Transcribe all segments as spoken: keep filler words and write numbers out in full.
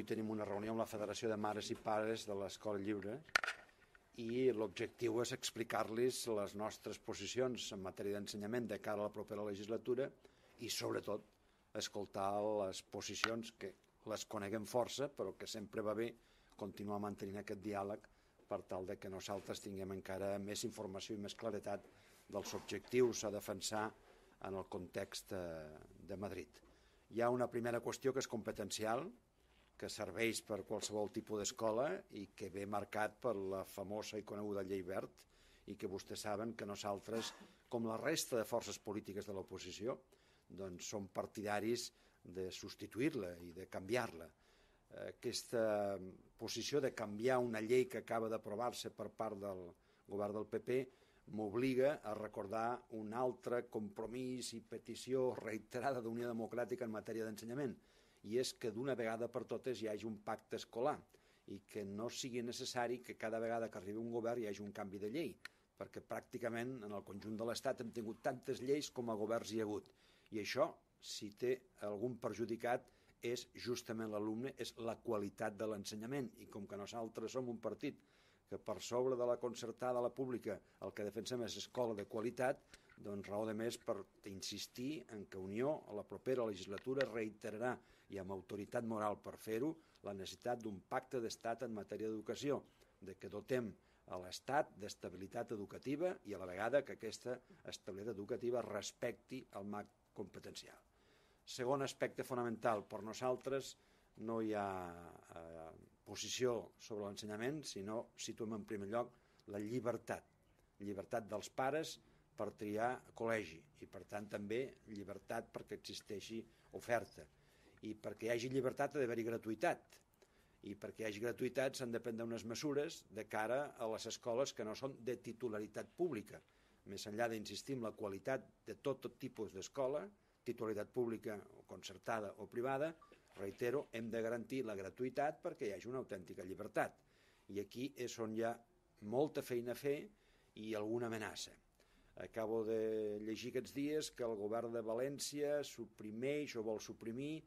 Avui tenim una reunió amb la Federació de Mares i Pares de l'Escola Lliure i l'objectiu és explicar-los les nostres posicions en matèria d'ensenyament de cara a la propera legislatura i, sobretot, escoltar les posicions que les coneguem força, però que sempre va bé continuar mantenint aquest diàleg per tal de que nosaltres tinguem encara més informació i més claretat dels objectius a defensar en el context de Madrid. Hi ha una primera qüestió que és competencial, que serveix per qualsevol tipus d'escola i que ve marcat per la famosa i coneguda llei Wert i que vostès saben que nosaltres, com la resta de forces polítiques de l'oposició, doncs som partidaris de substituir-la i de canviar-la. Aquesta posició de canviar una llei que acaba d'aprovar-se per part del govern del P P m'obliga a recordar un altre compromís i petició reiterada d'Unió Democràtica en matèria d'ensenyament, i és que d'una vegada per totes hi hagi un pacte escolar i que no sigui necessari que cada vegada que arribi un govern hi hagi un canvi de llei, perquè pràcticament en el conjunt de l'Estat hem tingut tantes lleis com a governs hi ha hagut. I això, si té algun perjudicat, és justament l'alumne, és la qualitat de l'ensenyament. I com que nosaltres som un partit que per sobre de la concertada, la pública, el que defensem és escola de qualitat, doncs raó de més per insistir en que Unió a la propera legislatura reiterarà i amb autoritat moral per fer-ho la necessitat d'un pacte d'estat en matèria d'educació, de que dotem a l'Estat d'estabilitat educativa i a la vegada que aquesta estabilitat educativa respecti el marc competencial. Segon aspecte fonamental, per nosaltres no hi ha eh, posició sobre l'ensenyament, sinó situem en primer lloc la llibertat, llibertat dels pares per triar col·legi i, per tant, també llibertat perquè existeixi oferta. I perquè hi hagi llibertat ha d'haver-hi gratuïtat. I perquè hi hagi gratuïtat s'han de prendre unes mesures de cara a les escoles que no són de titularitat pública. Més enllà d'insistir en la qualitat de tot, tot tipus d'escola, titularitat pública o concertada o privada, reitero, hem de garantir la gratuïtat perquè hi hagi una autèntica llibertat. I aquí és on hi ha molta feina a fer i alguna amenaça. Acabo de llegir aquests dies que el govern de València suprimeix o vol suprimir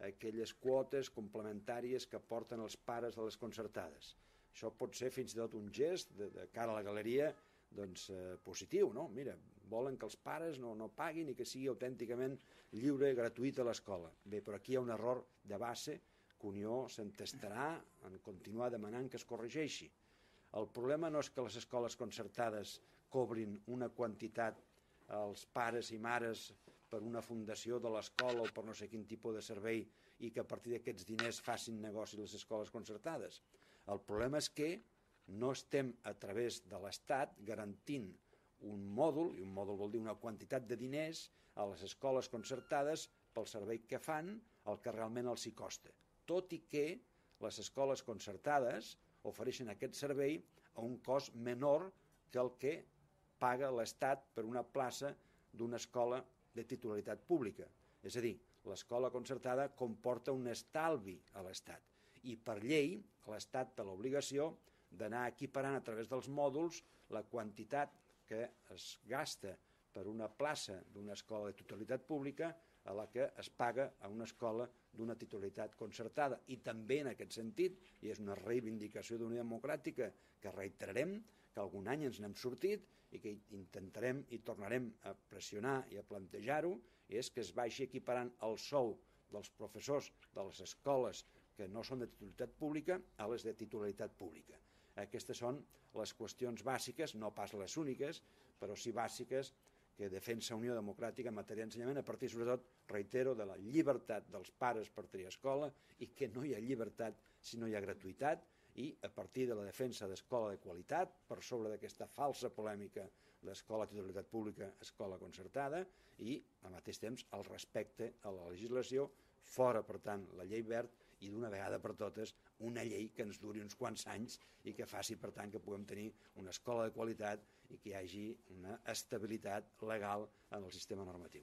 aquelles quotes complementàries que porten els pares a les concertades. Això pot ser fins i tot un gest de, de cara a la galeria doncs, eh, positiu, no? Mira, volen que els pares no, no paguin i que sigui autènticament lliure i gratuïta l'escola. Bé, però aquí hi ha un error de base que Unió s'entestarà en continuar demanant que es corregeixi. El problema no és que les escoles concertades cobrin una quantitat als pares i mares per una fundació de l'escola o per no sé quin tipus de servei i que a partir d'aquests diners facin negoci les escoles concertades. El problema és que no estem a través de l'Estat garantint un mòdul, i un mòdul vol dir una quantitat de diners a les escoles concertades pel servei que fan, el que realment els hi costa. Tot i que les escoles concertades ofereixen aquest servei a un cost menor que el que paga l'Estat per una plaça d'una escola de titularitat pública. És a dir, l'escola concertada comporta un estalvi a l'Estat i per llei l'Estat té l'obligació d'anar equiparant a través dels mòduls la quantitat que es gasta per una plaça d'una escola de titularitat pública a la que es paga a una escola d'una titularitat concertada. I també en aquest sentit, i és una reivindicació d'Unió Democràtica que reiterarem, que algun any ens n'hem sortit i que intentarem i tornarem a pressionar i a plantejar-ho, és que es vagi equiparant el sou dels professors de les escoles que no són de titularitat pública a les de titularitat pública. Aquestes són les qüestions bàsiques, no pas les úniques, però sí bàsiques que defensa Unió Democràtica en matèria d'ensenyament, a partir, sobretot, reitero, de la llibertat dels pares per triar escola i que no hi ha llibertat si no hi ha gratuïtat i a partir de la defensa d'escola de qualitat, per sobre d'aquesta falsa polèmica d'escola de titularitat pública, escola concertada i, al mateix temps, el respecte a la legislació, fora, per tant, la llei Wert i d'una vegada per totes una llei que ens duri uns quants anys i que faci, per tant, que puguem tenir una escola de qualitat i que hi hagi una estabilitat legal en el sistema normatiu.